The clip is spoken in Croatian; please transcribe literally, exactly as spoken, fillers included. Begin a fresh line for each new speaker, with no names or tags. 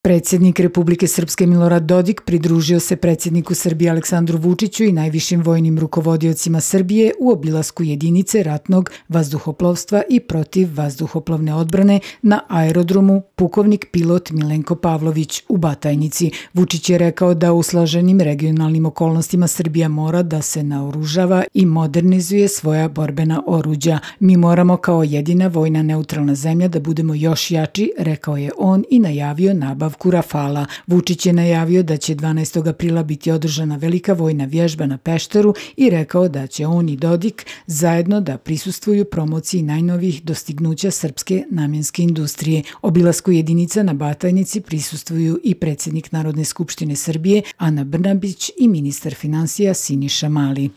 Predsjednik Republike Srpske Milorad Dodik pridružio se predsjedniku Srbije Aleksandru Vučiću i najvišim vojnim rukovodiocima Srbije u obilasku jedinice ratnog vazduhoplovstva i protivvazduhoplovne odbrane na aerodromu pukovnik pilot Milenko Pavlović u Batajnici. Vučić je rekao da u složenim regionalnim okolnostima Srbija mora da se naoružava i modernizuje svoja borbena oruđa. Mi moramo kao jedina vojna neutralna zemlja da budemo još jači, rekao je on i najavio nabav Rafala. Vučić je najavio da će dvanaestog aprila biti održana velika vojna vježba na Pešteru i rekao da će on i Dodik zajedno da prisustvuju promociji najnovijih dostignuća srpske namjenske industrije. Obilasku jedinica na Batajnici prisustvuju i predsjednik Narodne skupštine Srbije Ana Brnabić i ministar finansija Siniša Mali.